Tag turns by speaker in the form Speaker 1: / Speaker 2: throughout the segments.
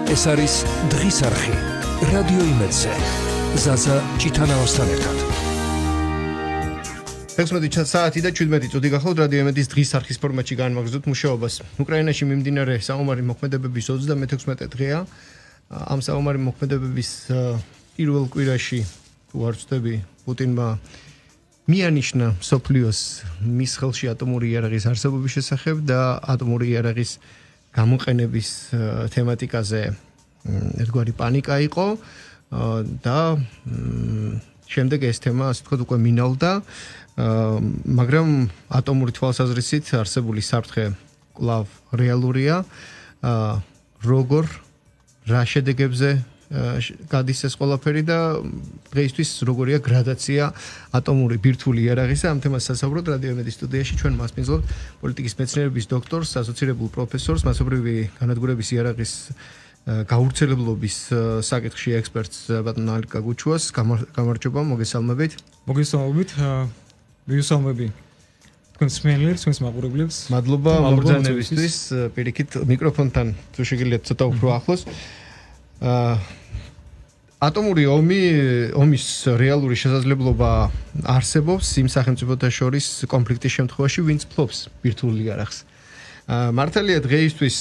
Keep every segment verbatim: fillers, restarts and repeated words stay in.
Speaker 1: ეს არის დღის არხი რადიო იმედზე ზაზა ჭიტანავასთან ერთად
Speaker 2: ექვსმეტი საათი და შვიდმეტი წუთი გახლავთ რადიო იმედის დღის არხის ფორმატში განმაგზავნებთ მუშაობას. უკრაინაში მიმდინარე საომარი მოქმედებების ოცდამეთექვსმეტე დღეა. ამ საომარი მოქმედებების პირველ კვირაში თუ არ ვცდები პუტინმა მიანიშნა სოფლიოს მის ხელში ატომური იარაღის არსებობის შესახებ და ატომური იარაღის გამოყენების თემატიკაზე ერთგვარი პანიკა იყო და შემდეგ ეს თემა ასე ვთქვათ უკვე მინავდა, მაგრამ ატომური თვალსაზრისით არსებული საფრთხე კვლავ რეალურია. როგორ რა შედეგებზე გადის ეს ყველაფერი და დღეისთვის როგორია გრადაცია ატომური ბირთვული იარაღისა. ამ თემას სასაუბროთ რადიო იმედის სტუდიაში ჩვენ მასპინძლობთ პოლიტიკის მეცნიერების დოქტორს, ასოცირებულ პროფესორს, მასობრივი განადგურების იარაღის გავრცელებლობის საკითხში ექსპერტს ბატონ ალიკა გუჩუას. გამარჯობა, მოგესალმებით.
Speaker 3: მოგესალმებით. ვისალმები თქვენს მსმენელებს, თქვენს მაყურებლებს.
Speaker 2: მადლობა მოგზაურობისთვის. პირიქით მიკროფონთან თუ შეგიძლიათ ცოტა უფრო ახლოს. ატომური ომი, ომის რეალური შესაძლებლობა არსებობს იმ სახელმწიფოთა შორის კონფლიქტის შემთხვევაში, ვინც ფლობს ბირთვულ იარაღს. მართალია დღეისთვის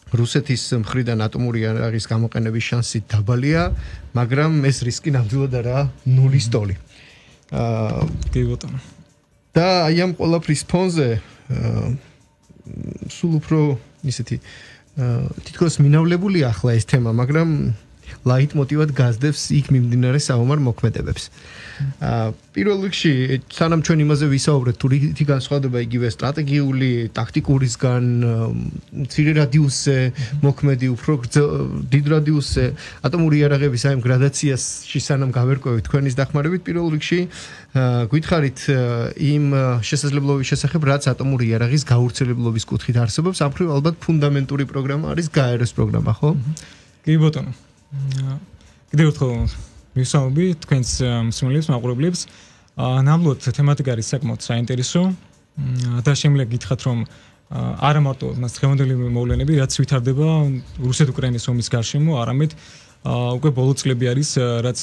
Speaker 2: რუსეთის მხრიდან ატომური იარაღის გამოყენების შანსი დაბალია, მაგრამ ეს რისკი ნამდვილად არაა ნულის ტოლი.
Speaker 3: კი ბატონო.
Speaker 2: და აი ამ ყველაფრის ფონზე სულ უფრო ისეთი თითქოს მინავლებული ახლა ეს თემა, მაგრამ ლაიტმოტივად გაზდევს იქ მიმდინარე საომარ მოქმედებებს. პირველ რიგში, სანამ ჩვენ იმაზე ვისაუბრეთ, თუ რითი განსხვავდება იგივე სტრატეგიული, ტაქტიკურისგან, მცირე რადიუსზე მოქმედი, უფრო დიდ რადიუსზე, ატომური იარაღების აი ამ გრადაციაში სანამ გავერკვევით თქვენის დახმარებით, პირველ რიგში გითხარით იმ შესაძლებლობის შესახებ, რაც ატომური იარაღის გავრცელებლობის კუთხით არსებობს, ამ მხრივ ალბათ ფუნდამენტური პროგრამა არის გაეროს პროგრამა, ხო?
Speaker 3: კი ბატონო. კიდევ ერთხელ მივსაუბრები თქვენს მსმენელებს, მაყურებლებს. ნამდვილად თემატიკა არის საკმაოდ საინტერესო და შემიძლია გითხრათ, რომ არა მარტო მას დღევანდელი მოვლენები, რაც ვითარდება რუსეთ-უკრაინის ომის გარშემო, არამედ უკვე ბოლო წლები არის, რაც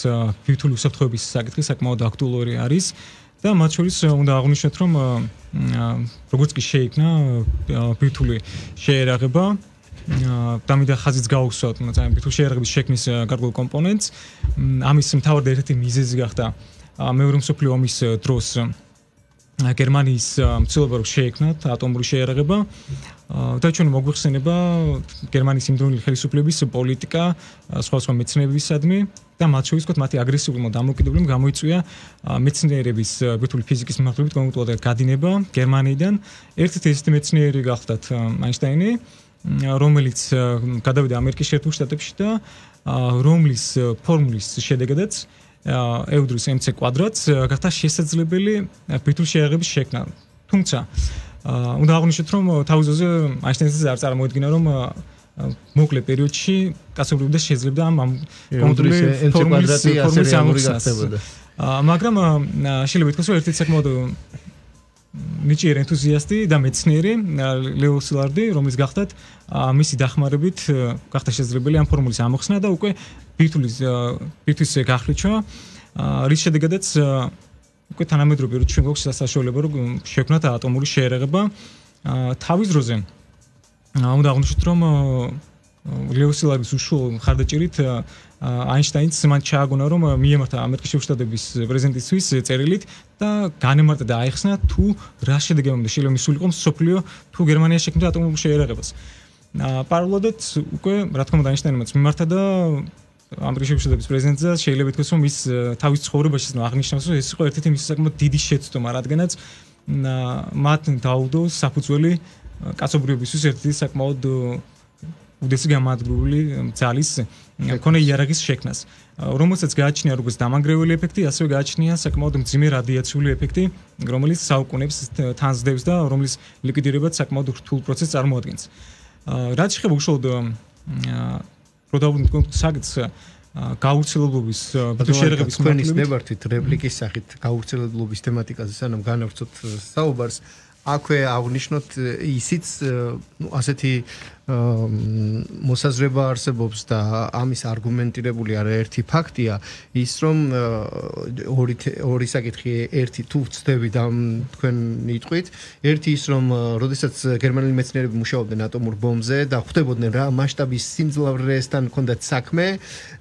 Speaker 3: ბირთვული უსაფრთხოების საკითხი საკმაოდ აქტუალური არის და მათ შორის უნდა აღვნიშნოთ, რომ როგორც კი შეიქმნა ბირთვული შეერაღება დამიდა ხაზიც გაუხსოვთ, მაგრამ ბირთვული შეერაღების შექმნის გარკვეულ კომპონენტს. ამის მთავარი ერთ-ერთი მიზეზი გახდა მეორე მსოფლიო ომის დროს გერმანიის მცდელობა რომ შეექმნათ ატომური შეერაღება და ჩვენ მოგვიხსენება გერმანიის იმდროინდელი ხელისუფლების პოლიტიკა სხვადასხვა მეცნიერებისადმი და მათ შორის ვთქვათ მათი აგრესიული დამოუკიდებლობა გამოიწვია მეცნიერების ბირთვული ფიზიკის მიმართულებით კონკრეტულად გადინება გერმანიიდან. ერთ-ერთი ესეთი მეცნიერი გახდათ აინშტაინი, რომელიც გადავიდა ამერიკის შეერთებულ შტატებში და რომლის ფორმულის შედეგადაც ეუდრის mc კვადრატს გახდა შესაძლებელი ბირთვული შეერაღების შექმნა. თუმცა უნდა აღვნიშნოთ, რომ თავის ძოზე აინშტაინს არ წარმოედგინა, რომ მოკლე პერიოდში კაცობრიობდეს შეძლებდა ამ კონკრეტული ფორმულის ამოხსნას. მაგრამ შეიძლება ითქვას, რომ ერთ-ერთი საკმაოდ ნიჭიერი ენთუზიასტი და მეცნიერი ლეო სილარდი, რომელიც გახდათ მისი დახმარებით გახდა შესაძლებელი ამ ფორმულის ამოხსნა და უკვე ბირთვulis ბირთვის გახლიჩვა, რის შედეგადაც უკვე თანამედროვე პერიოდში ჩვენ გვაქვს საშუალება რომ შექმნათ ატომური შეერაღება. თავის დროზე უნდა აღვნიშნოთ, რომ ლეო სილარდის უშუალო მხარდაჭერით აინშტაინს მან ჩააგონა, რომ მიემართა ამერიკის შეერთებული შტატების პრეზიდენტისთვის წერილით და განემარტა და აიხსნა თუ რა შედეგებამდე შეიძლება მისულიყო მსოფლიო თუ გერმანია შექმნიდა ატომურ შეერაღებას. პარალელურად უკვე რა თქმა უნდა აინშტაინმაც მიმართა და ამერიკის შეერთებული შტატების პრეზიდენტზე შეიძლება ითქვას, რომ ის თავის ცხოვრებაში აღნიშნავს, რომ ეს იყო ერთ-ერთი მისი საკმაოდ დიდი შეცდომა, რადგანაც მათ დაუდო საფუძველი კაცობრიობისთვის ერთ-ერთი საკმაოდ უდესი გამარჯვებული ძალის მქონე იარაღის შექმნას, რომელსაც გააჩნია როგორც დამანგრეველი ეფექტი, ასევე გააჩნია საკმაოდ მძიმე რადიაციული ეფექტი, რომელიც საუკუნეებს თანსდევს და რომლის ლიკვიდირებაც საკმაოდ რთულ პროცესს წარმოადგენს. რაც შეეხება უშუალოდ პროდავუნტ საკითხს გავრცელებლობის შეერაღების
Speaker 2: თქვენის ნებართვით რეპლიკის სახით გავრცელებლობის თემატიკაზე სანამ განავრცოთ საუბარს, აქვე აღნიშნოთ ისიც, ну, ასეთი მოსაზრება არსებობს და ამის არგუმენტირებული არაერთი ფაქტია ის რომ ორი ორი საკითხი ერთი თუ ვწდები და თქვენ იტყვით ერთი ის რომ როდესაც გერმანელი მეცნიერები მუშაობდნენ ატომურ ბომბზე და ხვდებოდნენ რა მასშტაბის სიმძლავრესთან ჰქონდათ საქმე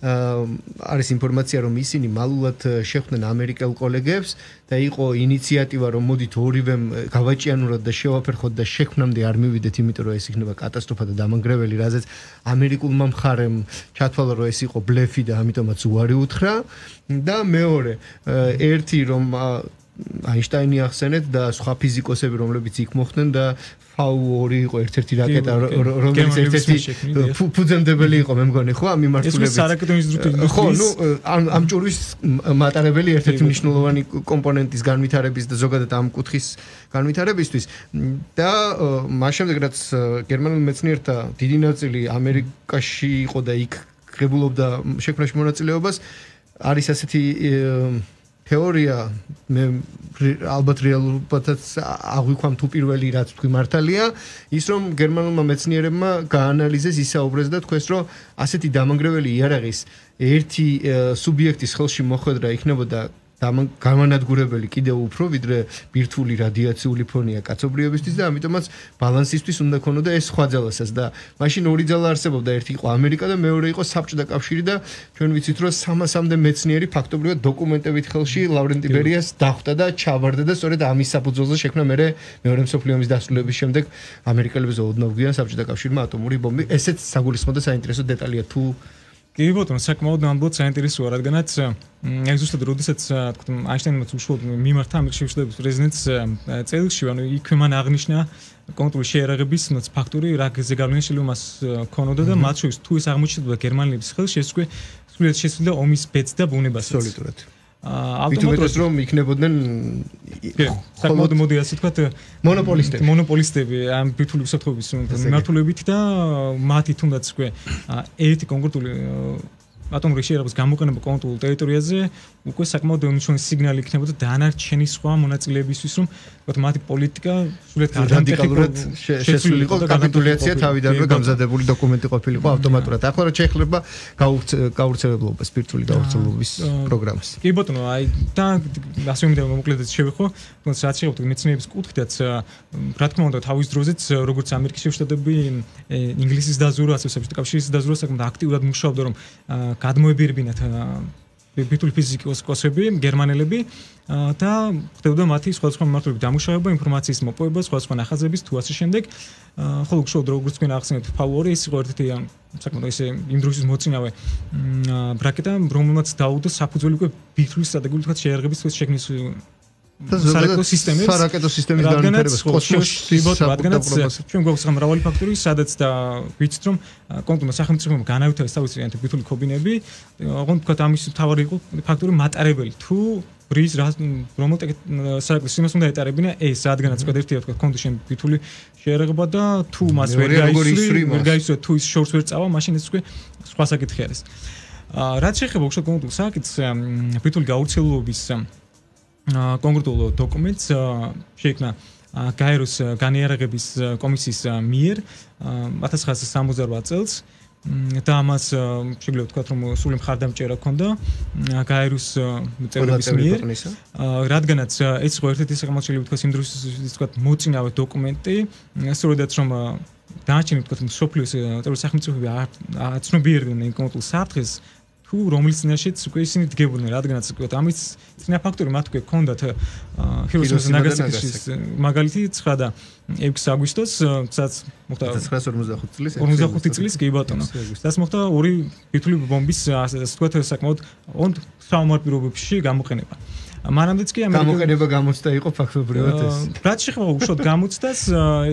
Speaker 2: არის ინფორმაცია რომ ისინი მალულად შეხვდნენ ამერიკელ კოლეგებს და იყო ინიციატივა რომ მოდით ორივემ გავაჭიანუროთ და შევაფერხოთ და შექმნამდე არ მივიდეთ იმიტომ რომ ეს იქნება კატასტროფა და დამანგრეველი რაზეც ამერიკულმა მხარემ ჩათვალა რომ ეს იყო ბლეფი და ამიტომაც უარი უთხრა და მეორე ერთი რომ აინშტაინი ახსენეთ და სხვა ფიზიკოსები რომლებიც იქ მოხვდნენ და ფაუ ორი იყო ერთ-ერთი რაკეტა რომელიც ერთ-ერთი ფუძემდებელი იყო მე მგონი ხო ამ მიმართულებით
Speaker 3: ეს სარაკეტო ინსტრუმენტი
Speaker 2: ხო ნუ ამ ჭურვის მატარებელი ერთ-ერთი მნიშვნელოვანი კომპონენტის განვითარების და ზოგადად ამ კუთხის განვითარებისთვის და მას შემდეგ რაც გერმანულ მეცნიერთა დიდი ნაწილი ამერიკაში იყო და იქ ღებულობდა შექმნაში მონაწილეობას არის ასეთი თეორია მე ალბათ რეალურობათაც აღვიქვამ თუ პირველი რაც თქვი მართალია ის რომ გერმანულმა მეცნიერებმა გაანალიზეს ისაუბრეს და თქვეს რომ ასეთი დამანგრეველი იარაღის ერთი სუბიექტის ხელში მოხვედრა იქნებოდა გამანადგურებელი კიდევ უფრო ვიდრე ბირთვული რადიაციული ფონია კაცობრიობისთვის და ამიტომაც ბალანსისთვის უნდა ქონოდა ეს სხვა ძალასაც და მაშინ ორი ძალა არსებობდა ერთი იყო ამერიკა და მეორე იყო საბჭოთა კავშირი და ჩვენ ვიცით რომ სამასამდე მეცნიერი ფაქტობრივად დოკუმენტებით ხელში ლავრენტი ბერიას დახვდა და ჩავარდა და სწორედ ამის საფუძველზე შექმნა მე მეორე მსოფლიო ომის დასრულების შემდეგ ამერიკელებს ოდნავ გვიან საბჭოთა კავშირმა ატომური ბომბი ესეც საგულისხმო და საინტერესო დეტალია თუ
Speaker 3: კი ბატონო, საკმაოდ ნამდვილად საინტერესოა, რადგანაც აი ზუსტად როდესაც თქვა აინშტაინმა უშუალოდ მიმართა ამერიკის შეშლების პრეზიდენტს წელში, ანუ იქ მან აღნიშნა კონტროლის შეერაღების ფაქტორი, რა გზეგავლენა შეიძლება მას ქონოდა და მათ შორის თუ ეს აღმოჩნდა გერმანელების ხელში, ეს უკვე სრულიად შესულია ომის ბედს და ბუნებას.
Speaker 2: სოლიდურად. ავტომატურად რომ იქნებოდნენ
Speaker 3: საკმაოდ მოდი ასე ვთქვათ
Speaker 2: მონოპოლისტები
Speaker 3: მონოპოლისტები ამ ბირთვული უსაფრთხოების მიმართულებით და მათი თუნდაც უკვე ერთი კონკრეტული ატომური შეერაღების გამოყენება კონკრეტულ ტერიტორიაზე უკვე საკმაოდ მნიშვნელოვანი სიგნალი იქნებოდა დანარჩენი სხვა მონაწილეებისთვის რომ ვთქვათ მათი პოლიტიკა სულეთ
Speaker 2: რადიკალურად შესულიყო კაპიტულაცია თავიდანვე გამზადებული დოკუმენტი ყოფილიყო ავტომატურად ახლა რა შეიძლება გაურცელებლობას ბირთვული გაურცელობის პროგრამას
Speaker 3: კი ბატონო აი და ასე უნდა მოკლედაც შევიხო თუნდაც რაც შეიძლება მეცნიერების კუთხითაც რა თქმა უნდა თავის დროზეც როგორც ამერიკის შეერთებული შტატები ინგლისის დაზვერვა ასე საბჭოთა კავშირის დაზვერვა საკმაოდ აქტიურად მუშაობდა რომ გადმოებირებინათ ბირთვული ფიზიკოსები, გერმანელები და ხდებოდა მათი სხვადასხვა მიმართულებით დამუშავება, ინფორმაციის მოპოვება, სხვადასხვა ნახაზების თუ ასე შემდეგ. ხოლო უშუალოდ როგორც თქვენ ახსენეთ, ფაუორი ის იყო ერთ-ერთი საკმაოდ ისე იმ დროის მოწინავე ბრაკეტა, რომელმაც დაუდო საფუძველი უკვე ბირთვლის სტრატეგიული თქვა შეერაღების შექმნის სარაკეტო სისტემის
Speaker 2: სარაკეტო სისტემის განვითარებას კოსმოსში
Speaker 3: რადგანაც ჩვენ გვაქვს მრავალი ფაქტორი, სადაც და ვიცით რომ კონკრეტულად სახელმწიფომ განავითარეს თავისი ბირთვული კობინები, ოღონდ თქვა ამის მთავარი იყო ფაქტორი მატარებელი თუ რის რომელ სარაკეტო სისტემას უნდა ეტარებინა ეს რადგანაც თქვა ერთი თქვა კონდო შენ ბირთვული შეერაღება და თუ მას ვერ გაისვრი ვერ გაისვრი თუ ის შორს ვერ წავა მაშინ ეს უკვე სხვა საკითხი არის. რაც შეეხება უშუალოდ კონკრეტულ საკითხს ბირთვული გაურცელობის კონკრეტულ დოკუმენტს შეიქმნა გაეროს განიარაღების კომისიის მიერ ათას ცხრაასი სამოცდაოთხ წელს და ამას შეგვიძლია ვთქვათ რომ სრული მხარდამჭერა ჰქონდა გაეროს წევრების მიერ რადგანაც ეს იყო ერთ-ერთი საკმაოდ შეიძლება ვთქვათ იმ დროს ვთქვათ მოწინავე დოკუმენტი სწორედაც რომ დანარჩენი ვთქვათ სოფლიოს წევრ სახელმწიფოები აცნობიერდნენ კონკრეტულ საფრთხეს თუ რომლის წინაშეც უკვე ისინი დგებოდნენ რადგანაც ვთქვათ ამის წინა ფაქტორი მათ უკვე ჰქონდათ ჰიროსიმას და ნაგასაკის მაგალითი ცხრა და ექვსი აგვისტოს სადაც მოხდა
Speaker 2: ათას ცხრაასი ორმოცდახუთი წლის
Speaker 3: ორმოცდახუთი წლის კი ბატონო სადაც მოხდა ორი ბირთვული ბომბის ასე ვთქვათ საკმაოდ ოღონდ საომარ პირობებში გამოყენება მანამდეც კი ამერიკა
Speaker 2: გამოყენება გამოცდა იყო ფაქტობრივად ეს
Speaker 3: რაც შეეხება უშუალოდ გამოცდას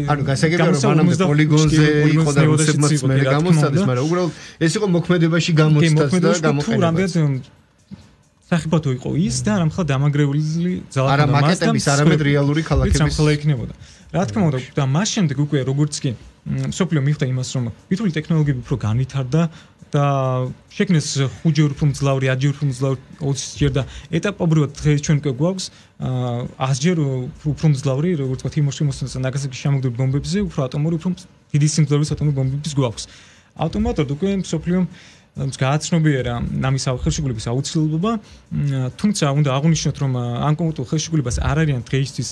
Speaker 2: ანუ გასაგებია რომ მანამდე პოლიგონზე იყო და რუსებმაც მე გამოცდას მაგრამ უბრალოდ ეს იყო მოქმედებაში გამოცდას და გამოყენება სახიფათო იყო ის და არამხოლოდ დამაგრეული ძალა არა მაკეტების არამედ რეალური ქალაქების
Speaker 3: სამხელა იქნებოდა რა თქმა უნდა და მას შემდეგ უკვე როგორც კი სოფლიო მიხვდა იმას რომ ბირთვული ტექნოლოგიები უფრო განვითარდა და შექმნეს ხუთჯერ უფრო მძლავრი, ათჯერ უფრო მძლავრი, ოცჯერ და ეტაპობრივად ჩვენ უკვე გვაქვს ათჯერ უფრო მძლავრი, როგორც ვთქვათ, იმოსიმოს ნაგასაკის შემოგდებ ბომბებზე, უფრო ატომური, უფრო დიდი სიმძლავრის ატომური ბომბების გვაქვს. ავტომატურად უკვე მსოფლიომ გააცნობიერა ამის ხელშეკრულების აუცილებლობა, თუმცა უნდა აღვნიშნოთ, რომ ამ კონკრეტულ ხელშეკრულებას არ არიან დღეისთვის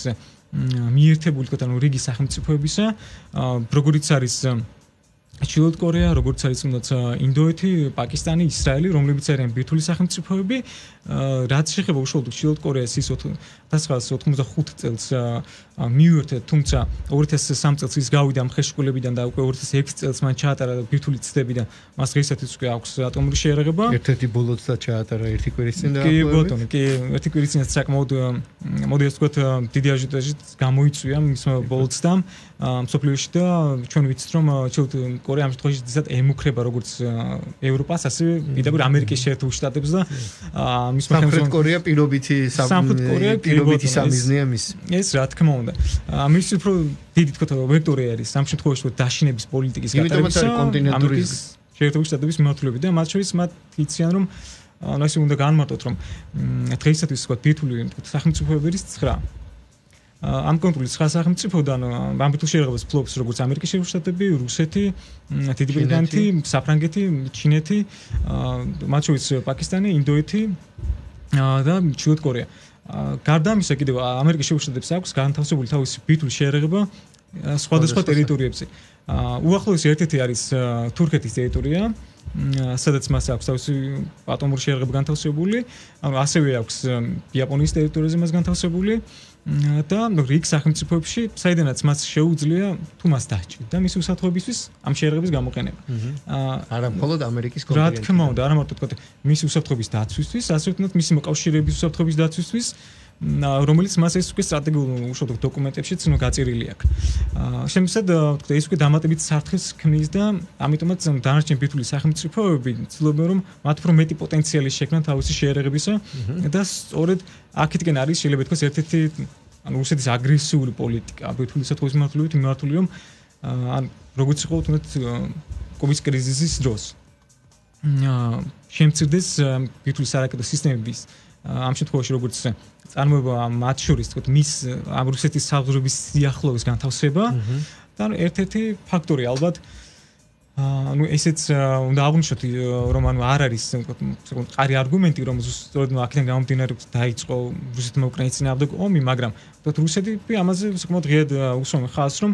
Speaker 3: მიერთებული თქვა ანუ რიგი სახელმწიფოებისა, როგორიც არის ჩრდილოეთ კორეა, როგორც არის თუნდაც ინდოეთი, პაკისტანი, ისრაელი, რომლებიც არიან ბირთვული სახელმწიფოები, რაც შეეხება უშუალოდ ჩრდილოეთ კორეას ის ათას ცხრაასი ოთხმოცდახუთი წელს მიუერთდა, თუმცა ორი ათას სამი წელს ის გავიდა ამ ხელშეკრულებიდან და უკვე ორი ათას ექვსი წელს მან ჩაატარა ბირთვული ცდები და მას დღეისათვის უკვე აქვს ატომური შეერაღება.
Speaker 2: ერთ-ერთი ბოლოდაც ჩაატარა ერთი კვირის წინ და
Speaker 3: კი ბატონო, კი ერთი კვირის წინაც საკმაოდ მოდი ასე ვთქვათ დიდი აჟიოტაჟით გამოიწვია მისმა ბოლოდსთან მსოფლიოში და ჩვენ ვიცით რომ ჩრდილოეთ კორეა ამ შემთხვევაში ძირითადად ემუქრება როგორც ევროპას, ასევე პირდაპირ ამერიკის შეერთებულ შტატებს და მის
Speaker 2: სამხრეთ კორეა პირობითი პირობითი სამიზნეა მის.
Speaker 3: ეს რა თქმა უნდა. მის უფრო დიდი თქო ვექტორი არის ამ შემთხვევაში დაშინების პოლიტიკის
Speaker 2: გატარებისა
Speaker 3: ამერიკის შეერთებულ შტატების მიმართულებით და მათ შორის მათ იციან რომ ანუ ესე უნდა განმარტოთ რომ დღეისათვის თქო ბირთვული სახელმწიფოები არის ცხრა. ამ კონკრეტულ ცხრა სახელმწიფოდან ამ ბირთვულ შეერაღებას ფლობს როგორც ამერიკის შეერთებული შტატები, რუსეთი, დიდი ბრიტანეთი, საფრანგეთი, ჩინეთი, მათ შორის პაკისტანი, ინდოეთი და ჩრდილოეთ კორეა. გარდა ამისა კიდევ ამერიკის შეერთებული შტატებს აქვს განთავსებული თავისი ბირთვული შეერაღება სხვადასხვა ტერიტორიებზე. უახლოესი ერთ-ერთი არის თურქეთის ტერიტორია, სადაც მას აქვს თავისი ატომური შეერაღება განთავსებული, ანუ ასევე აქვს იაპონიის ტერიტორიაზე მას განთავსებული და რიგ სახელმწიფოებში, საიდანაც მას შეუძლია თუ მას დაჭირდა და მის უსაფრთხოებისთვის ამ შეერაღების გამოყენება.
Speaker 2: არა მხოლოდ ამერიკის
Speaker 3: კონტინენტი. რა თქმა უნდა, არა მარტო თქვა მის უსაფრთხოების დაცვისთვის, ასევე თუნდაც მისი მოკავშირეების უსაფრთხოების დაცვისთვის, რომელიც მას ეს უკვე სტრატეგიულ უშუალოდ დოკუმენტებშიც ნუ გაწერილი აქვს. შემოსად თქვა ეს უკვე დამატებით საფრთხეს ქმნის და ამიტომაც დანარჩენი ბირთვული სახელმწიფოები ცდილობენ რომ მათ უფრო მეტი პოტენციალი შექმნან თავისი შეერაღებისა და სწორედ აქეთკენ არის შეიძლება თქოს ერთ-ერთი ანუ რუსეთის აგრესიული პოლიტიკა ბირთვული საფრთხის მიმართულებით მიმართული რომ ან როგორც იყო თუნდაც კოვის კრიზისის დროს შემცირდეს ბირთვული სარაკეტო სისტემების ამ შემთხვევაში როგორც წარმოება მათ შორის თქო მის ამ რუსეთის საზღვრების სიახლოვის განთავსება და ერთ-ერთი ფაქტორი ალბათ ანუ ესეც უნდა აღვნიშნოთ რომ ანუ არ არის თქო მყარი არგუმენტი რომ სწორედ აქედან გამომდინარე დაიწყო რუსეთმა უკრაინის წინააღმდეგ ომი, მაგრამ თქო რუსეთი ამაზე საკმაოდ ღიად უსვამენ ხაზს რომ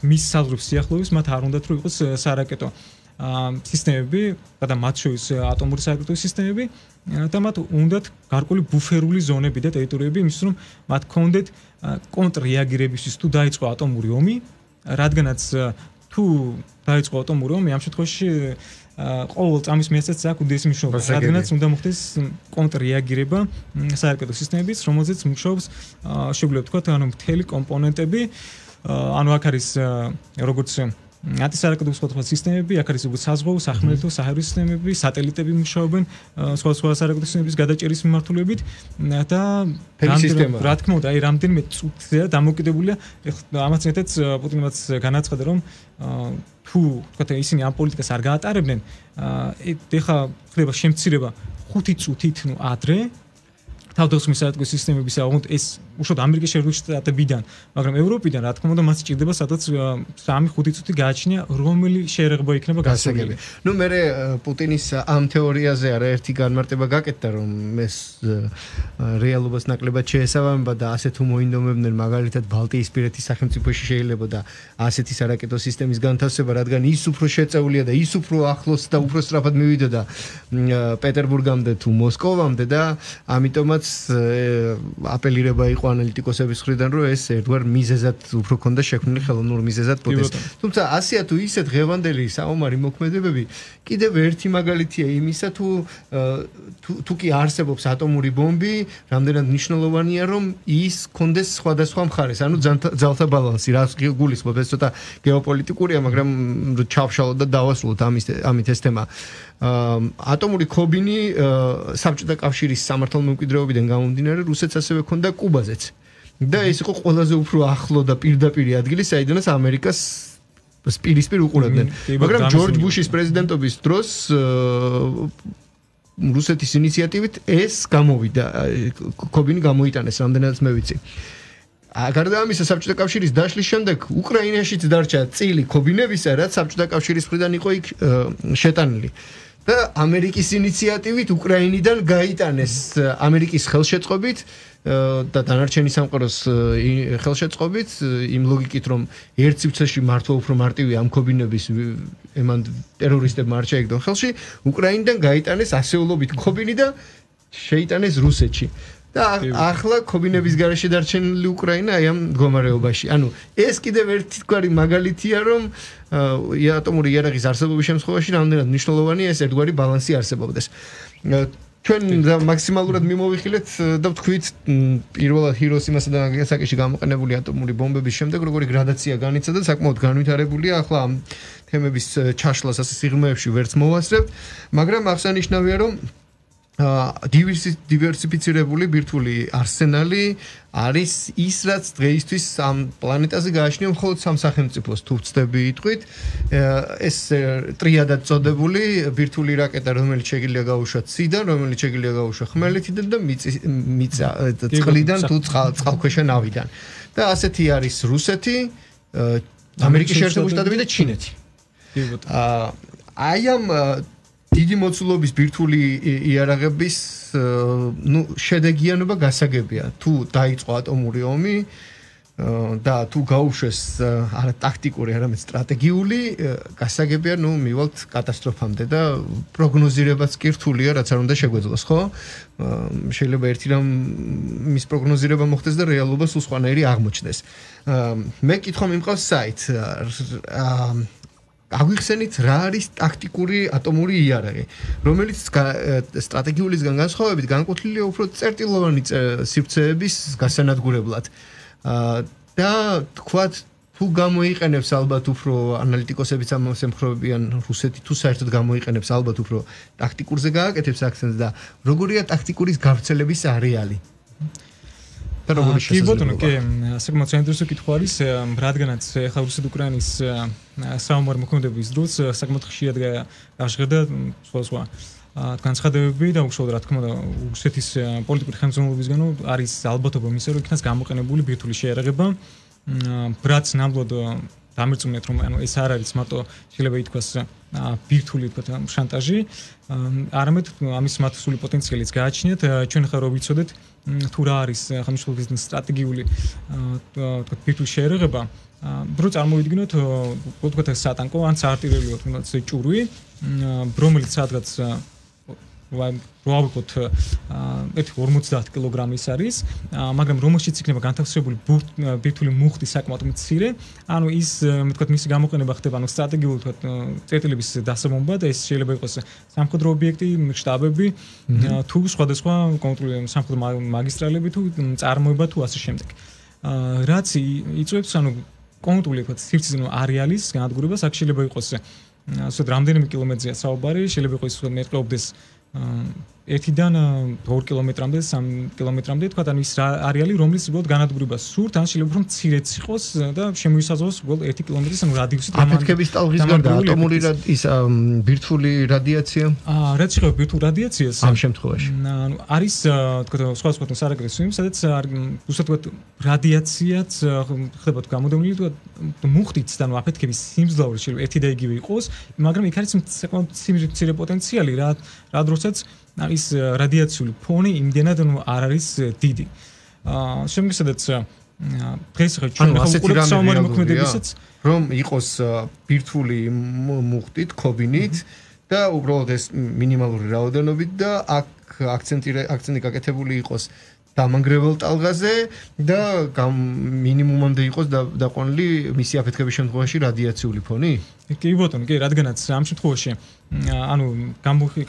Speaker 3: მის საზღვრების სიახლოვის მათ არ უნდათ რომ იყოს სარაკეტო სისტემები და მათ შორის ატომური სარაკეტო სისტემები და მათ უნდათ გარკვეული ბუფერული ზონები და ტერიტორიები იმისთვის რომ მათ კონდეთ კონტრრეაგირებისთვის თუ დაიწყო ატომური ომი, რადგანაც თუ დაიწყო ატომური ომი ამ შემთხვევაში ყოველ წამის მიეცეს აქ უდიდესი მნიშვნელობა, რადგანაც უნდა მოხდეს კონტრრეაგირება სარაკეტო სისტემების, რომელზეც მუშაობს შეგვიძლია ვთქვათ ანუ მთელი კომპონენტები, ანუ აქ არის როგორც ანტისარაკეტო სხვადასხვა სისტემები, აქ არის როგორც საზღვაო, სახმელეთო, საჰაერო სისტემები, სატელიტები მუშაობენ სხვადასხვა სარაკეტო სისტემების გადაჭერის მიმართულებით და რა თქმა უნდა, აი რამდენიმე წუთია დამოკიდებულია, ამაც ერთად პუტინმაც განაცხადა რომ თუ თქვათ ისინი ამ პოლიტიკას არ გაატარებდნენ, ეხლა ხდება შემცირება ხუთი წუთით, ნუ ადრე თავდასხმის სარაკეტო სისტემების აღონთ ეს უშუალოდ ამერიკის შეერთებული შტატებიდან, მაგრამ ევროპიდან რა თქმა უნდა მას ჭირდება სადაც სამი ხუთი წუთი გააჩნია რომელი შეერაღება იქნება გასაგები.
Speaker 2: ნუ მე პუტინის ამ თეორიაზე არაერთი განმარტება გაკეთდა რომ ეს რეალობას ნაკლებად შეესაბამება და ასე თუ მოინდომებდნენ მაგალითად ბალტიისპირეთის სახელმწიფოში შეიძლება და ასეთი სარაკეტო სისტემის განთავსება, რადგან ის უფრო შეწეულია და ის უფრო ახლოს და უფრო სწრაფად მივიდოდა პეტერბურგამდე თუ მოსკოვამდე და ამიტომაც აპელირება იყო ანალიტიკოსების მხრიდან რომ ეს ერთგვარ მიზეზად უფრო ქონდა შექმნილი ხელოვნურ მიზეზად პროტესტი. თუმცა ასია თუ ისე დღევანდელი საომარი მოქმედებები კიდევ ერთი მაგალითია იმისა თუ თუ კი არსებობს ატომური ბომბი, რამდენად მნიშვნელოვანია რომ ის კონდეს სხვადასხვა მხარეს, ანუ ძალთა ბალანსი, რაც გულისხმობს ეს ცოტა გეოპოლიტიკურია, მაგრამ ჩავშალოთ და დავასრულოთ ამის ამით ეს თემა. ატომური ქობინი საბჭოთა კავშირის სამართალმემკვიდრეობიდან გამომდინარე რუსეთს ასევე ჰქონდა კუბაზეც და ეს იყო ყველაზე უფრო ახლო და პირდაპირი ადგილი, საიდანაც ამერიკას პირისპირ უყურებდნენ. მაგრამ ჯორჯ ბუშის პრეზიდენტობის დროს რუსეთის ინიციატივით ეს გამოვიდა, ქობინი გამოიტანეს, რამდენადაც მე ვიცი. გარდა ამისა საბჭოთა კავშირის დაშლის შემდეგ უკრაინაშიც დარჩა წილი ქობინებისა, რაც საბჭოთა კავშირის მხრიდან იყო იქ შეტანილი. და ამერიკის ინიციატივით უკრაინიდან გაიტანეს ამერიკის ხელშეწყობით და დანარჩენი სამყაროს ხელშეწყობით იმ ლოგიკით რომ ერთ სივრცეში მართლა უფრო მარტივია ამ ქობინების ემან ტერორისტებმა არ შეეგდონ ხელში უკრაინიდან გაიტანეს ასეულობით ქობინი და შეიტანეს რუსეთში და ახლა ქობინების გარეშე დარჩენილი უკრაინა აი ამ მდგომარეობაში. ანუ ეს კიდევ ერთგვარი მაგალითია რომ ატომური იარაღის არსებობის შემთხვევაში რამდენად მნიშვნელოვანია ეს ერთგვარი ბალანსი არსებობდეს. ჩვენ მაქსიმალურად მიმოვიხილეთ და ვთქვით პირველად ჰიროსიმასა და ნაგასაკიში გამოყენებული ატომური ბომბების შემდეგ როგორი გრადაცია განიცა და საკმაოდ განვითარებულია. ახლა ამ თემების ჩაშლას ასე სიღრმეებში ვერც მოვასწრებთ, მაგრამ აღსანიშნავია რომ დივერსიფიცირებული ბირთვული არსენალი არის ის რაც დღეისთვის ამ პლანეტაზე გააჩნია მხოლოდ სამ სახელმწიფოს თუ ვწდები იტყვით ეს ტრიადად წოდებული ბირთვული რაკეტა რომელიც შეიძლება გაუშვა ციდან რომელიც შეიძლება გაუშვა ხმელეთიდან და მიწა წყლიდან თუ წყალქვეშა ნავიდან და ასეთი არის რუსეთი ამერიკის შეერთებული შტატები და ჩინეთი აი ამ დიდი მოცულობის ბირთვული იარაღების ნუ შედეგიანობა გასაგებია თუ დაიწყო ატომური ომი და თუ გაუშვეს არა ტაქტიკური არამედ სტრატეგიული გასაგებია ნუ მივალთ კატასტროფამდე და პროგნოზირებაც კი რთულია რაც არ უნდა შეგვეძლოს ხო შეიძლება ერთი რამ მის პროგნოზირება მოხდეს და რეალობა სულ სხვანაირი აღმოჩნდეს მე კითხვა მიმყავს საით აგვიხსენით რა არის ტაქტიკური ატომური იარაღი, რომელიც სტრატეგიულისგან განსხვავებით განკუთვნილია უფრო წერტილოვანი სივრცეების გასანადგურებლად. და თქვათ თუ გამოიყენებს ალბათ უფრო ანალიტიკოსებიც ამას ემხრობიან რუსეთი თუ საერთოდ გამოიყენებს ალბათ უფრო ტაქტიკურზე გააკეთებს აქცენტს და როგორია ტაქტიკურის გავრცელების არეალი.
Speaker 3: კი ბატონო, კი, საკმაოდ საინტერესო კითხვა არის, რადგანაც ახლა რუსეთ-უკრაინის საომარ მოქმედების დროს საკმაოდ ხშირად გაჟღერდა სხვა სხვა განცხადებები და უშუალოდ რა თქმა უნდა რუსეთის პოლიტიკური ხელმძღვანელობისგანო არის ალბათობა მისა, რომ იქნას გამოყენებული ბირთვული შეიარაღება, რაც ნამდვილად დამერწმუნეთ რომ ანუ ეს არ არის მარტო შეიძლება ითქვას ბირთვული თქვა შანტაჟი, არამედ ამის მათსული პოტენციალიც გააჩნიათ, ჩვენ ხარ რო ვიცოდეთ თუ რა არის ხმშულობის სტრატეგიული თქვა ბირთვული შეიარაღება, რო წარმოვიდგინოთ თქვა სატანკო ან საარტილერიო თუნდაც ჭურვი, რომელიც სადღაც ვავიკოთ ერთი ორმოცდაათ კილოგრამის არის, მაგრამ რომელშიც იქნება განთავსებული ბირთვული მუხტი საკმაოდ მცირე, ანუ ის მე თქვა მისი გამოყენება ხდება ანუ სტრატეგიული თქვა წერტილების დასაბომბად, ეს შეიძლება იყოს სამხედრო ობიექტი, შტაბები, თუ სხვადასხვა კონტროლი სამხედრო მაგისტრალები თუ წარმოება თუ ასე შემდეგ. რაც იწვევს ანუ კონტროლი თქვა სივრცის არეალის განადგურებას, აქ შეიძლება იყოს ასე რამდენიმე კილომეტრზეა საუბარი, შეიძლება იყოს მეტყობდეს ერთიდან ორ კილომეტრამდე, სამ კილომეტრამდე, თქვა და ის არეალი, რომელიც უბრალოდ განადგურებას სურთ, ან შეიძლება უფრო მცირეც იყოს და შემოისაზღვროს უბრალოდ ერთი კილომეტრის ანუ რადიუსით.
Speaker 2: აფეთქების ტალღის გარდა ატომური ის ბირთვული რადიაცია? აა, რაც შეიძლება ბირთვულ რადიაციას ამ შემთხვევაში. ანუ არის თქვა სხვა სხვა სარაგრესო იმ, სადაც უბრალოდ რადიაციაც ხდება გამოდევნილი თქვა მუხტიც და ანუ აფეთქების სიმძლავრე შეიძლება ერთი და იგივე იყოს, მაგრამ იქ არის საკმაოდ მცირე პოტენციალი რა რა დროსაც ის რადიაციული ფონი იმდენად ნუ არ არის დიდი. აა შემგესადაც დღეს ხა ჩვენ ახლა საომარი მოქმედებისაც რომ იყოს ბირთვული მუხტით, ქობინით და უბრალოდ ეს მინიმალური რაოდენობით და აქ აქცენტი აქცენტი გაკეთებული იყოს დამანგრეველ ტალღაზე და მინიმუმამდე იყოს დაყვანილი მისი აფეთქების შემთხვევაში რადიაციული ფონი? კი ბატონო, კი, რადგანაც ამ შემთხვევაში ანუ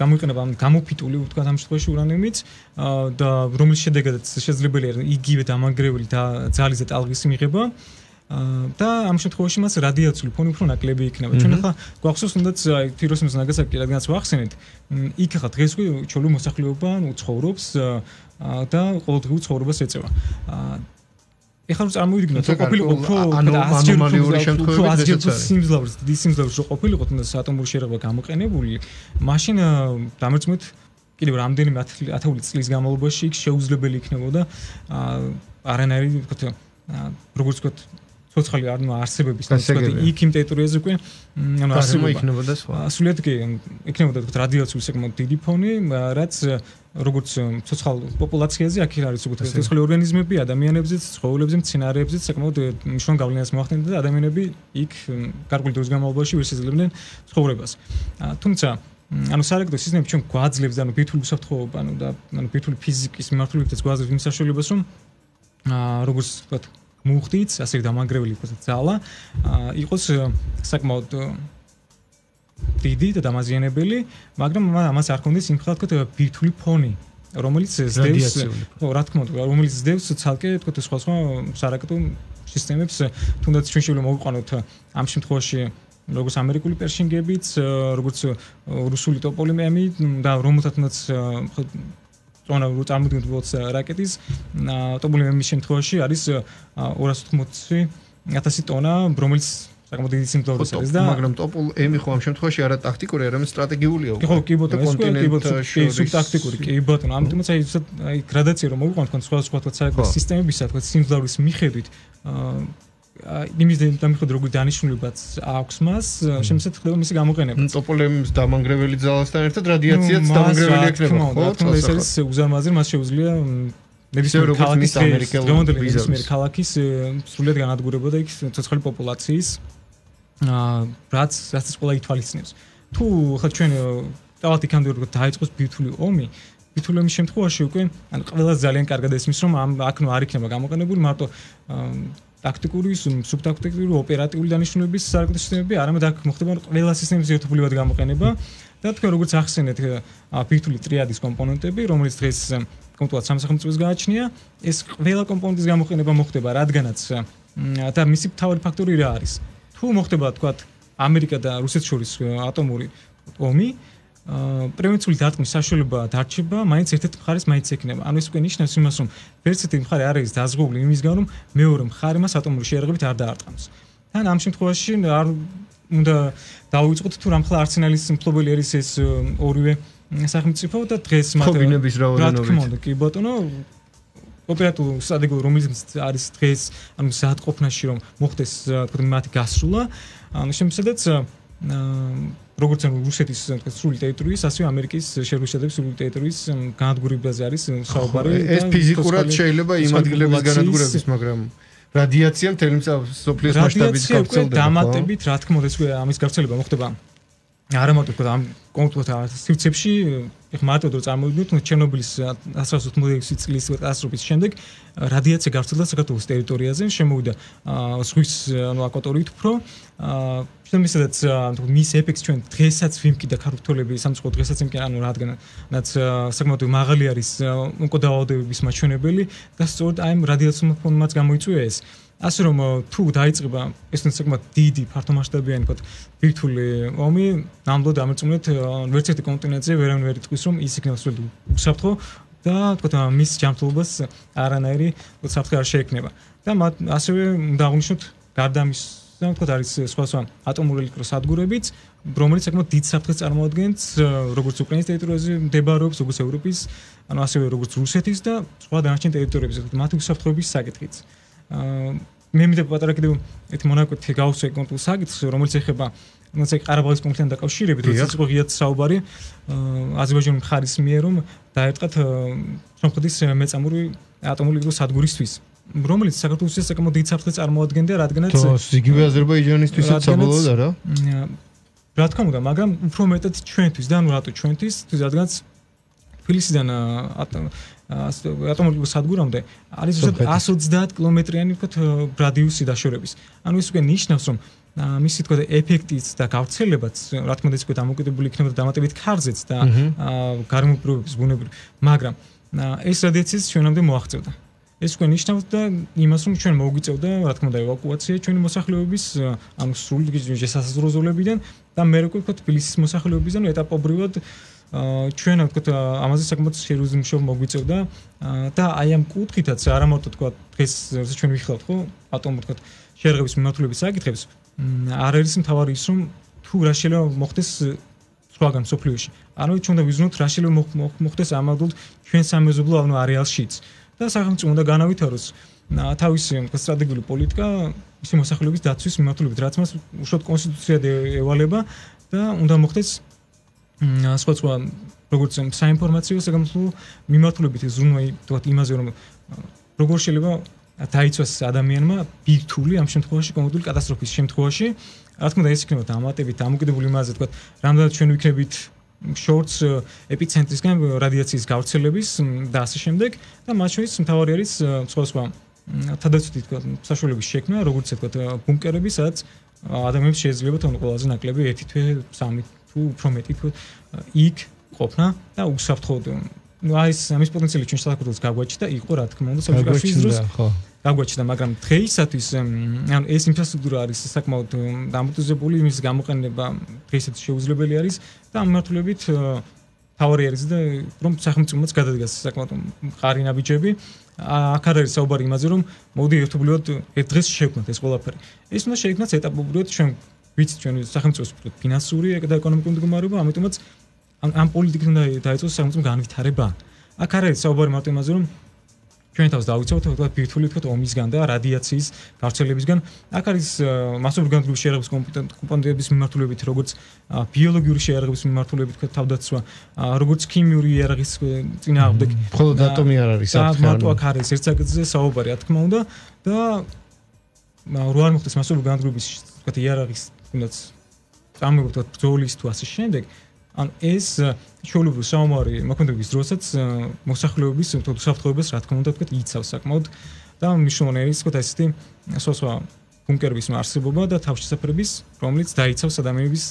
Speaker 2: გამოიყენება გამოფიტული ვთქვათ ამ შემთხვევაში ურანიუმიც და რომლის შედეგადაც შესაძლებელია იგივე დამანგრეველი და ძალის და ტალღის მიღება და ამ შემთხვევაში მას რადიაციული ფონი უფრო ნაკლები იქნება. ჩვენ ახლა გვახსოვს თუნდაც ჰიროსიმას ნაგასაკი რადგანაც ვახსენეთ, იქ ახლა დღეს ჩვენი მოსახლეობა უცხოვრობს და ყოველდღიურ ცხოვრებას ეწევა. ეხლა რომ წარმოვიდგინოთ, რომ ყოფილიყო უფრო ანომალიური შემთხვევები სიმძლავრეს, დიდი სიმძლავრეს რო ყოფილიყო თუნდაც ატომური შეიარაღება გამოყენებული, მაშინ დამერწმუნეთ კიდევ რამდენიმე ათეული წლის განმავლობაში იქ შეუძლებელი იქნებოდა არანაირი თქო
Speaker 3: როგორც ვთქვათ, ცოცხალი ანუ არსებების, თუმცა იქ იმ ტერიტორიაზე უკვე ანუ არსებობა
Speaker 2: იქნებოდა სხვა.
Speaker 3: სულიად კი იქნებოდა თქო რადიაციული საკმაოდ დიდი ფონი, რაც როგორც ცოცხალ პოპულაციაზე აქ არის უკვე ცოცხალი ორგანიზმები, ადამიანებზეც, ცხოველებზეც, მცენარეებზეც საკმაოდ მნიშვნელოვან გავლენას მოახდენდა და ადამიანები იქ გარკვეული დროის განმავლობაში ვერ შეძლებდნენ ცხოვრებას. თუმცა ანუ სარეკეთო სისტემები ჩვენ გვაძლევს ანუ ბირთვული უსაფრთხოება, ანუ და ანუ ბირთვული ფიზიკის მიმართულებითაც გვაძლევს იმ საშუალებას, რომ როგორც ვთქვათ მუხტიც, ასე დამანგრეველი იყოს ძალა, იყოს საკმაოდ დიდი და დამაზიანებელი, მაგრამ ამას არ ქონდეს იმ ხალხად ბირთვული ფონი, რომელიც ზდევს, ხო, რა თქმა უნდა, რომელიც ზდევს ცალკე, თქო, სხვა სხვა სარაკეტო სისტემებს, თუნდაც ჩვენ შეიძლება მოვიყვანოთ ამ შემთხვევაში როგორც ამერიკული პერშინგებიც, როგორც რუსული ტოპოლიმები და რომელთაც ტონა რო წარმოდგენთ რაკეტის ტოპოლიმების შემთხვევაში არის ორას ოთხმოცი ათასი ტონა, რომელიც საკმაოდ დიდი სიმძლავრის არის და
Speaker 2: მაგრამ ტოპოლ-ემი ხო ამ შემთხვევაში არა ტაქტიკური, არამედ სტრატეგიულია უკვე.
Speaker 3: ხო, კი ბატონო, ეს კი ბატონო, სუბტაქტიკური, კი ბატონო. ამიტომაც აი აი გრადაცია რომ მოვიყვანთ თქვენ სხვა სხვა სარაკეტო სისტემებისა, თქვენ სიმძლავრის მიხედვით იმის დამიხედვით როგორი დანიშნულებაც აქვს მას, შემოსად ხდება მისი გამოყენება.
Speaker 2: ტოპოლემის დამანგრეველი ძალასთან ერთად რადიაციაც დამანგრეველი ექნება, ხო?
Speaker 3: ეს არის უზარმაზარი, მას შეუძლია ნებისმიერ ქალაქის ნებისმიერ ქალაქის სრულად განადგურება და იქ ცოცხალი პოპულაციის რაც რაც ყველა ითვალისწინებს. თუ ხა ჩვენ დავთ იქამდე როგორ დაიწყოს ბირთვული ომი, ბირთვული ომის შემთხვევაში უკვე ანუ ყველა ძალიან კარგად ესმის, რომ ამ აქ ნუ არ იქნება გამოყენებული მარტო ტაქტიკური, სუბტაქტიკური, ოპერატიული დანიშნულების სარაკეტო სისტემები, არამედ აქ მოხდება ყველა სისტემის ერთობლივად გამოყენება და თქვენ როგორც ახსენეთ ბირთვული ტრიადის კომპონენტები, რომელიც დღეს კონკრეტულად სამსახურწოს გააჩნია, ეს ყველა კომპონენტის გამოყენება მოხდება, რადგანაც და მისი მთავარი ფაქტორი რა არის? თუ მოხდება თქვა ამერიკა და რუსეთს შორის ატომური ომი, პრევენციული დარტყმის საშუალება დარჩება, მაინც ერთ-ერთ მხარეს მაინც ექნება. ანუ ეს უკვე ნიშნავს იმას, რომ ვერც ერთი მხარე არ არის დაზღვეული იმისგან, რომ მეორე მხარე მას ატომური შეერაღებით არ დაარტყმს. თან ამ შემთხვევაში არ უნდა დავიწყოთ თუ რამხელა არსენალის მფლობელი არის ეს ორივე სახელმწიფო და დღეს
Speaker 2: მათ ხობინების რაოდენობით.
Speaker 3: კი ბატონო, ოპერატიული სტრატეგია რომელიც არის დღეს, ანუ საათყოფნაში რომ მოხდეს თქო მათი გასრულა, ანუ შემთხვევით როგორც ანუ რუსეთის სრული ტერიტორიის, ასევე ამერიკის შეერთებული შტატების სრული ტერიტორიის განადგურებაზე არის საუბარი.
Speaker 2: ეს ფიზიკურად შეიძლება იმ ადგილების განადგურების, მაგრამ რადიაცია მთელი მსოფლიოს მასშტაბით გავრცელდება.
Speaker 3: დამატებით, რა თქმა უნდა, ეს ამის გავრცელება მოხდება არა მარტო თქო ამ კონკრეტულ სივრცეებში, ეხლა მარტო რომ წარმოვიდგინოთ, ჩერნობილის ათას ოცდაექვსი წლის კატასტროფის შემდეგ რადიაცია გავრცელდა საქართველოს ტერიტორიაზე, შემოვიდა ზღვის ანუ აკვატორიით უფრო შემისედაც მის ეფექტს ჩვენ დღესაც ვიმკიდა ქართველები სამწუხაროდ დღესაც იმკენ ანუ რადგანაც საკმაოდ მაღალი არის ონკოდაავადებების მაჩვენებელი და სწორედ აი ამ რადიაციულ ფონმაც გამოიწვია ეს. ასე რომ თუ დაიწყება ეს საკმაოდ დიდი ფართომასშტაბიანი თქო ბირთვული ომი, ნამდვილად ამერწმუნეთ ვერც ერთი კონტინენტზე ვერავინ ვერ იტყვის რომ ის იქნება სრულად უსაფრთხო და თქო მის ჯანმრთელობას არანაირი უსაფრთხო არ შეექმნება. და ასევე უნდა აღვნიშნოთ გარდა ამის თქო არის სხვა სხვა ატომური ელექტროსადგურებიც, რომელიც საკმაოდ დიდ საფრთხეს წარმოადგენს როგორც უკრაინის ტერიტორიაზე მდებარეობს, როგორც ევროპის, ანუ ასევე როგორც რუსეთის და სხვა დანარჩენ ტერიტორიებზე, მათი უსაფრთხოების საკითხიც. მე მინდა პატარა კიდევ ერთი მონაკვეთი გავუსვე კონკრეტულ საკითხს, რომელიც ეხება თუნდაც ყარაბაღის კონფლიქტთან დაკავშირებით, როდესაც იყო ღიად საუბარი აზერბაიჯანის მხარის მიერ რომ დაერტყათ სომხეთის მეწამული ატომური ელექტროსადგურისთვის, რომელიც საქართველოს საკმაოდ დიდ საფრთხეს წარმოადგენდა, რადგანაც
Speaker 2: იგივე აზერბაიჯანისთვისაც საბოლოოდ არა?
Speaker 3: რა თქმა უნდა, მაგრამ უფრო მეტად ჩვენთვის და ანუ რატო ჩვენთვის, რადგანაც თბილისიდან ატომური სადგურამდე არის εκατს ოცდაათ კილომეტრიანი ვთქვათ რადიუსი დაშორების. ანუ ეს უკვე ნიშნავს, რომ მისი თქო ეფექტიც და გავრცელებაც, რა თქმა უნდა, ის უკვე დამოკიდებული იქნება დამატებით ქარზეც და გარემოპირობების ბუნებრივ, მაგრამ ეს რადიაციაც ჩვენამდე მოაღწევდა. ეს უკვე ნიშნავს და იმას, რომ ჩვენ მოგვიწევდა, რა თქმა უნდა, ევაკუაცია ჩვენი მოსახლეობის, ანუ სრული შესაძლო ზოლებიდან და მე როგორ ვთქვათ, თბილისის მოსახლეობისგან ეტაპობრივად ჩვენ ვთქვათ ამაზე საკმაოდ სერიოზული მუშაობა მოგვიწევდა და აი ამ კუთხითაც არა მარტო თქვა დღეს როცა ჩვენ ვიხილავთ ხო ატომურ თქვა შეერაღების მიმართულების საკითხებს არ არის მთავარი ის რომ თუ რა შეიძლება მოხდეს სხვაგან სოფლიოში ანუ ჩვენ უნდა ვიზნოთ რა შეიძლება მოხდეს ამავდროულად ჩვენ სამეზობლო ანუ არეალშიც და სახელმწიფო უნდა განავითაროს თავისი სტრატეგიული პოლიტიკა ის მოსახლეობის დაცვის მიმართულებით, რაც მას უშუალოდ კონსტიტუციად ევალება და უნდა მოხდეს სხვა სხვა როგორც საინფორმაციო საგამოწმო მიმართულებით ზრუნვა თქვათ იმაზე რომ როგორ შეიძლება დაიცვას ადამიანმა ბირთვული ამ შემთხვევაში კონკრეტული კატასტროფის შემთხვევაში რა თქმა უნდა ეს იქნება დამატებით დამოკიდებული იმაზე თქვათ რამდენად ჩვენ ვიქნებით shorts ეპიცენტრისგან რადიაციის გავრცელების და ასე შემდეგ და მათ შორის მთავარი არის სხვა სხვა თადაცვითი თქვათ საშუალების შექმნა როგორც თქვათ ბუნკერები სადაც ადამიანებს შეიძლება თუნდაც ყველაზე ნაკლები ერთი თვე სამი თუ უფრო მეტი თქვათ იქ ყოფნა და უსაფრთხოდ ну а ის ამის პოტენციალი ჩვენ საქართველოს გაგვაჩნდა იყო რა თქმა უნდა საბჭოების დროს ხო გაგვაჩნდა მაგრამ დღეისათვის ანუ ეს ინფრასტრუქტურა არის საკმაოდ დამტვერებული იმის გამოყენება დღეისათვის შეუძლებელი არის და ამ მიმართულებით თავარი არის და რომ სახელმწიფოც გადადგას საკმაოდ მყარი ნაბიჯები აქ არის საუბარი იმაზე რომ მოდი ერთობლივად ერთ დღეს შევქმნათ ეს ყველაფერი ეს უნდა შეიქმნას ეტაპობრივად ჩვენ ვიცით ჩვენ სახელმწიფოს ფინანსური და ეკონომიკური მდგომარეობა ამიტომაც ამ პოლიტიკით უნდა დაიწყოს სახელმწიფო განვითარება აქ არის საუბარი მარტო იმაზე რომ ჩვენ თავს დავიცავთ თქვათ ბირთვული თქვათ ომისგან და რადიაციის გავრცელებისგან აქ არის მასობრივი განვითარების შეერაღების კომპონენტების მიმართულებით როგორც ბიოლოგიური შეერაღების მიმართულებით თქვათ თავდაცვა როგორც ქიმიური იარაღის წინააღმდეგ
Speaker 2: მხოლოდ ატომი არ არის
Speaker 3: საფრთხე მარტო აქ არის ერთ საკითხზე საუბარი რა თქმა უნდა და რო არ მოხდეს მასობრივი განვითარების თქვათ იარაღის თუნდაც წარმოგვიდგეთ თქვათ ბრძოლის თუ ასე შემდეგ ან ეს ჩვეულებრივი საომარი მოქმედების დროსაც მოსახლეობის უსაფრთხოებას რა თქმა უნდა თქვათ იცავს საკმაოდ და მნიშვნელოვანი ის თქვათ ესეთი სოცა ბუნკერების არსებობა და თავშესაფრების რომელიც დაიცავს ადამიანების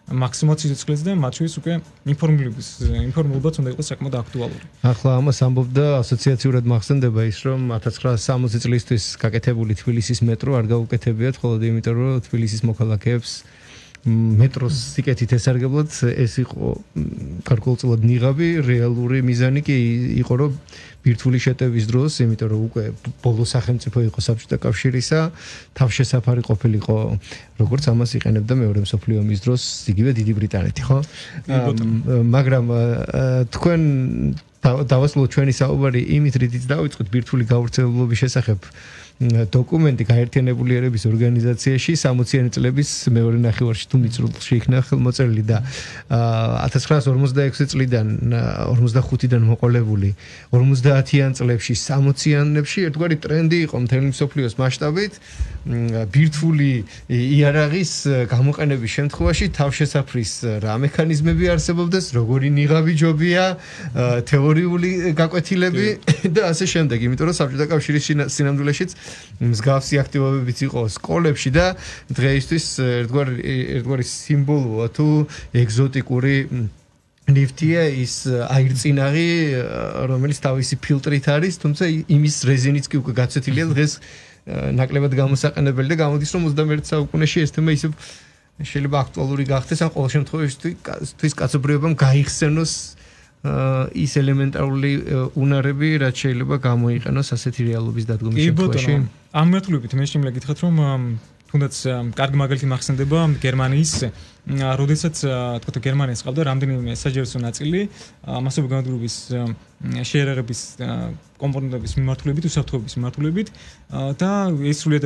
Speaker 3: მაქსიმალურ სიცოცხლეს და მათ შორის უკვე ინფორმირების ინფორმულობაც უნდა იყოს საკმაოდ აქტუალური.
Speaker 2: ახლა ამას ამბობდა ასოციაციურად მახსენდება ის რომ ათას ცხრაასი სამოცი წლისთვის გაკეთებული თბილისის მეტრო არ გაუკეთებიათ მხოლოდ იმიტომ რომ თბილისის მოქალაქეებს მეტროს სიკეთით ესარგებლად ეს იყო გარკვეულწილად ნიღაბი რეალური მიზანი კი იყო რომ ბირთვული შეტევის დროს იმიტომ რომ უკვე ბოლო სახელმწიფო იყო საბჭოთა კავშირისა თავშესაფარი ყოფილიყო როგორც ამას იყენებდა მეორე მსოფლიო ომის დროს იგივე დიდი ბრიტანეთი ხო მაგრამ თქვენ დავასრულოთ ჩვენი საუბარი იმით რითიც დავიწყოთ ბირთვული გავრცელების შესახებ დოკუმენტი გაერთიანებული ერების ორგანიზაციაში სამოციანი წლების მეორე ნახევარში თუ მიწურულში იქნა ხელმოწერილი და ათას ცხრაასი ორმოცდაექვსი წლიდან ორმოცდახუთიდან მოყოლებული ორმოცდაათიან წლებში სამოციანებში ერთგვარი ტრენდი იყო მთელი მსოფლიოს მასშტაბით ბირთვული იარაღის გამოყენების შემთხვევაში თავშესაფრის რა მექანიზმები არსებობდეს როგორი ნიღაბი ჯობია თეორიული გაკვეთილები და ასე შემდეგ იმიტომ რომ საბჭოთა კავშირის სინამდვილეშიც მსგავსი აქტივობებიც იყო სკოლებში და დღეისთვის ერთგვარი ერთგვარი სიმბოლოა თუ ეგზოტიკური ნივთია ის აირწინაღი რომელიც თავისი ფილტრით არის თუმცა იმის რეზინიც კი უკვე გაცეთილია დღეს ნაკლებად გამოსაყენებელი და გამოდის რომ ოცდამეერთე საუკუნეში ეს თემა ისევ შეიძლება აქტუალური გახდეს ან ყოველ შემთხვევაში თვის კაცობრიობამ გაიხსენოს ის ელემენტარული უნარები რაც შეიძლება გამოიყენოს ასეთი რეალობის დადგომის შემთხვევაში.
Speaker 3: ამ მიმართულებით მე შემიძლია გითხრათ რომ თუნდაც კარგი მაგალითი მახსენდება გერმანიის როდესაც თქვა გერმანიას ყავდა რამდენიმე საჯარისო ნაწილი მასობრივი განვითარების შეერაღების კომპონენტების მიმართულებით უსაფრთხოების მიმართულებით და ეს სრულიად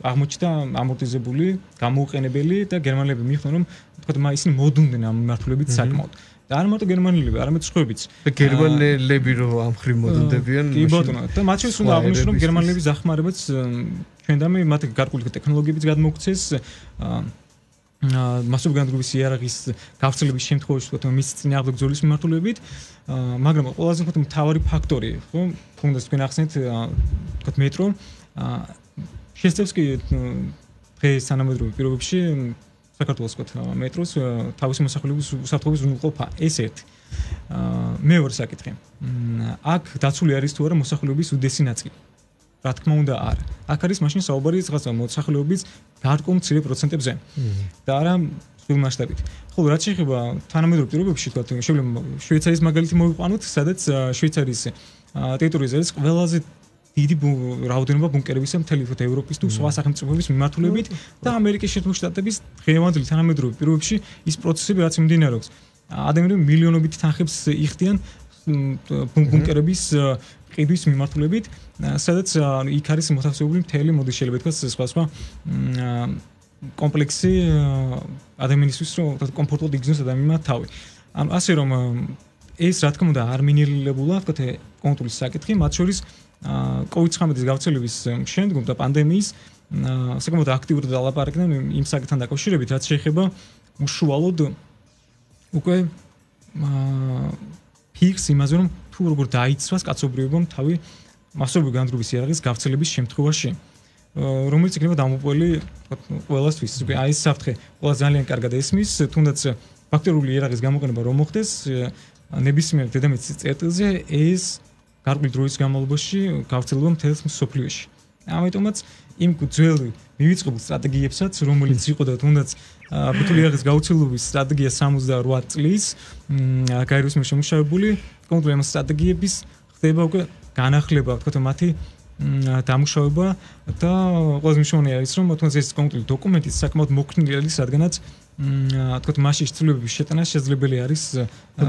Speaker 3: აღმოჩნდა ამორტიზებული გამოუყენებელი და გერმანელები მიხვდნენ რომ თქვა ისინი მოდუნდნენ ამ მიმართულებით საკმაოდ და არ მარტო გერმანელები, არამედ სხვებიც.
Speaker 2: და გერმანელები რო ამ ხრივ მოდუნდებიან.
Speaker 3: კი ბატონო, და მათ შორის უნდა აღნიშნო რომ გერმანელების დახმარებაც ჩვენდამე მათ გარკვეული ტექნოლოგიებიც გადმოგცეს მასობრივი განვითარების იარაღის გავრცელების შემთხვევაში თქო მის წინააღმდეგ ბრძოლის მიმართულებით, მაგრამ ყველაზე უფრო მთავარი ფაქტორი, ხო, თუნდაც თქვენ ახსენეთ თქო მეტრო შესწევს კი დღეს თანამედროვე პირობებში საქართველოს თქვა მეტროს თავისი მოსახლეობის უსაფრთხოების უზრუნველყოფა ეს ერთი. მეორე საკითხი. აქ დაცული არის თუ არა მოსახლეობის უდესი ნაწილი. რა თქმა უნდა არა. აქ არის მაშინ საუბარი რაღაცა მოსახლეობის გარკვეულ მცირე პროცენტებზე. და არა სულ მასშტაბით. ხოლო რაც შეეხება თანამედროვე პირობებში თქვა შეიძლება შვეიცარიის მაგალითი მოვიყვანოთ, სადაც შვეიცარიის ტერიტორიაზე არის ყველაზე დიდი რაოდენობა ბუნკერებისა მთელი ევროპის თუ სხვა სახელმწიფოების მიმართულებით და ამერიკის შეერთებული შტატების დღევანდელი თანამედროვე პირობებში ის პროცესები რაც მიმდინარეობს. ადამიანები მილიონობით თანხებს იხდიან ბუნკერების ყიდვის მიმართულებით, სადაც იქ არის მოთავსებული მთელი მოდი შეიძლება ითქვას სხვა სხვა კომპლექსი ადამიანისთვის რომ კომფორტულად იგრძნოს ადამიანმა თავი. ანუ ასე რომ ეს რა თქმა უნდა არ მინირულებულა ვთქვათ კონტროლის საკითხი, მათ შორის კოვიდ ცხრამეტის გავრცელების შემდგომ და პანდემიის საკმაოდ აქტიურად დალაპარაკდნენ იმ საკითხთან დაკავშირებით, რაც შეეხება უშუალოდ უკვე ფიქს იმაზე რომ თუ როგორ დაიცვას კაცობრიობამ თავი მასობრივი განდრობის იარაღის გავრცელების შემთხვევაში, რომელიც იქნება დამოპოვებული ყველასთვის. უკვე აი ეს საფრთხე ყველა ძალიან კარგად ესმის, თუნდაც ბაქტერიული იარაღის გამოყენება რომ მოხდეს ნებისმიერ დედამიწის წერტილზე, ეს გარკვეული დროის განმავლობაში გავრცელდება მთელს მსოფლიოში. ამიტომაც იმ ძველ მივიწყებულ სტრატეგიებსაც, რომელიც იყო და თუნდაც ბაქტერიული იარაღის გავრცელების სტრატეგია სამოცდაოთხ წლის გაეროს მიერ შემუშავებული, კონკრეტულად ამ სტრატეგიების ხდება უკვე განახლება, ვთქვათ, მათი დამუშავება და ყველაზე მნიშვნელოვანი არის, რომ თუნდაც ეს კონკრეტული დოკუმენტი საკმაოდ მოქნილი არის, რადგანაც ვთქვათ, მასში ცვლილებების შეტანა შესაძლებელი არის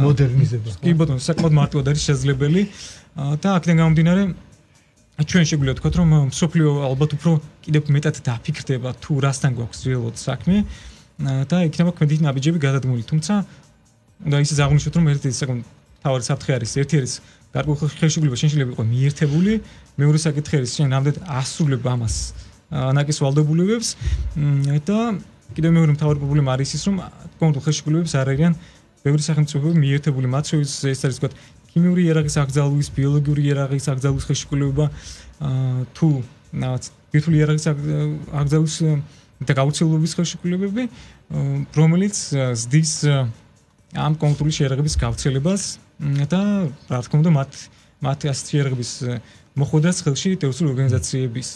Speaker 2: მოდერნიზება.
Speaker 3: კი ბატონო, საკმაოდ მარტივად არის შესაძლებელი და აქედან გამომდინარე ჩვენ შეგვიძლია ვთქვათ, რომ მსოფლიო ალბათ უფრო კიდევ მეტად დაფიქრდება თუ რასთან გვაქვს რეალურად საქმე და იქნება ქმედით ნაბიჯები გადადგმული. თუმცა უნდა ისიც აღვნიშნოთ, რომ ერთი საკმაოდ მთავარი საფრთხე არის, ერთი არის გარკვეული ხელშეკრულება შეიძლება იყოს მიერთებული, მეორე საკითხი არის შენ რამდენად ასრულებ ამას ანაკის ვალდებულებებს და კიდევ მეორე მთავარი პრობლემა არის ის, რომ კონკრეტულ ხელშეკრულებებს არ არიან ბევრი სახელმწიფოები მიერთებული, მათ შორის ეს არის ვთქვათ ქიმიური იარაღის აკრძალვის, ბიოლოგიური იარაღის აკრძალვის ხელშეკრულება თუ ბირთვული იარაღის აკრძალვის და გავრცელების ხელშეკრულებები, რომელიც ზრდის ამ კონკრეტული იარაღების გავრცელებას და რა თქმა უნდა მათ მათ ასეთი იარაღების მოხვედრას ხელში ტერორისტული ორგანიზაციების,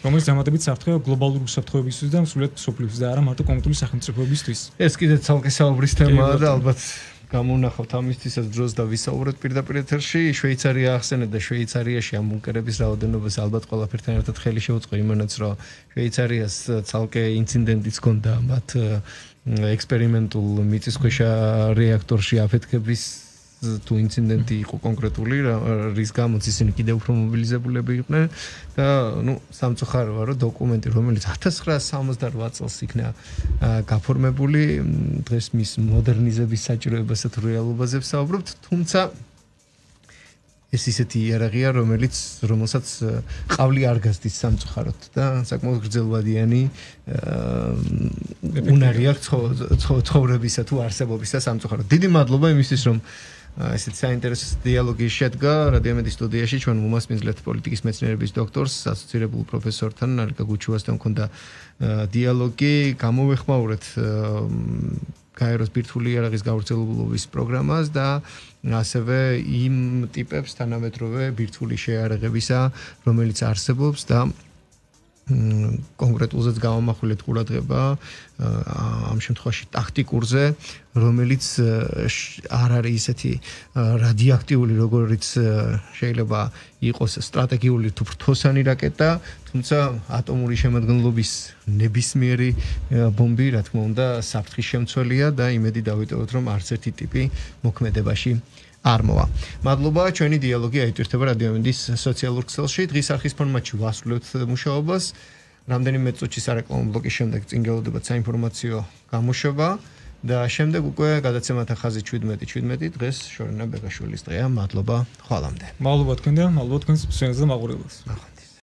Speaker 3: რომელიც დამატებით საფრთხეა გლობალური უსაფრთხოებისთვის და მსვლელად მსოფლიოს და არა მარტო კონკრეტული სახელმწიფოებისთვის.
Speaker 2: ეს კიდე ცალკე საუბრის თემაა და ალბათ გამოვნახავთ ამისთვისაც დროს და ვისაუბროთ პირდაპირ ეთერში. შვეიცარია ახსენეთ და შვეიცარიაში ამ ბუნკერების რაოდენობას ალბათ ყველაფერთან ერთად ხელი შეუწყო იმანაც, რომ შვეიცარიას ცალკე ინციდენტიც ჰქონდა მათ ექსპერიმენტულ მიწისქვეშა რეაქტორში აფეთქების თუ ინციდენტი იყო კონკრეტული, რის გამოც ისინი კიდევ უფრო მობილიზებულები იყვნენ და ნუ სამწუხაროა, რომ დოკუმენტი, რომელიც ათას ცხრაასი სამოცდაოთხ წელს იქნა გაფორმებული, დღეს მის მოდერნიზების საჭიროებასა თუ რეალობაზე ვსაუბრობთ, თუმცა ეს ისეთი იარაღია, რომელიც რომელსაც ყავლი არ გასდის სამწუხაროდ და საკმაოდ გრძელვადიანი უნარი აქვს ცხოვრებისა თუ არსებობისა სამწუხაროდ. დიდი მადლობა იმისთვის, რომ ესეთ საინტერესო დიალოგი შედგა რადიომედის სტუდიაში ჩვენ მომასპინძლეთ პოლიტიკის მეცნიერების დოქტორს, ასოცირებულ პროფესორთან ალიკა გუჩუასთან მქონდა დიალოგი, გამოვეხმაურეთ გაეროს ბირთვული იარაღის გავრცელების პროგრამას და ასევე იმ ტიპებს თანამედროვე ბირთვული შეიარაღებისა, რომელიც არსებობს და კონკრეტულზეც გამომახვილეთ ყურადღება ამ შემთხვევაში ტაქტიკურზე, რომელიც არ არის ისეთი რადიოაქტიული, როგორც შეიძლება იყოს სტრატეგიული თუ ფრთოსანი რაკეტა, თუმცა ატომური შემადგენლობის ნებისმიერი ბომბი, რა თქმა უნდა, საფრთხის შემცველია და იმედი დავიტოვოთ, რომ არც ერთი ტიპი მოქმედებაში არ მოვა. მადლობა, ჩვენი დიალოგი აიტვირთება რადიომედის სოციალურ ქსელში. დღის არხის ფორმატში ვასრულებთ მუშაობას. რამდენიმე წუთში სარეკლამო ბლოკის შემდეგ წინ გელოდებათ საინფორმაციო გამოშვება და შემდეგ უკვე გადაცემათა ხაზი შვიდმეტი შვიდმეტი დღეს შორენა ბეგაშვილის დღეა. მადლობა, ხვალამდე.
Speaker 3: მადლობა თქვენ და მადლობა თქვენს მსმენელს და მაყურებელს.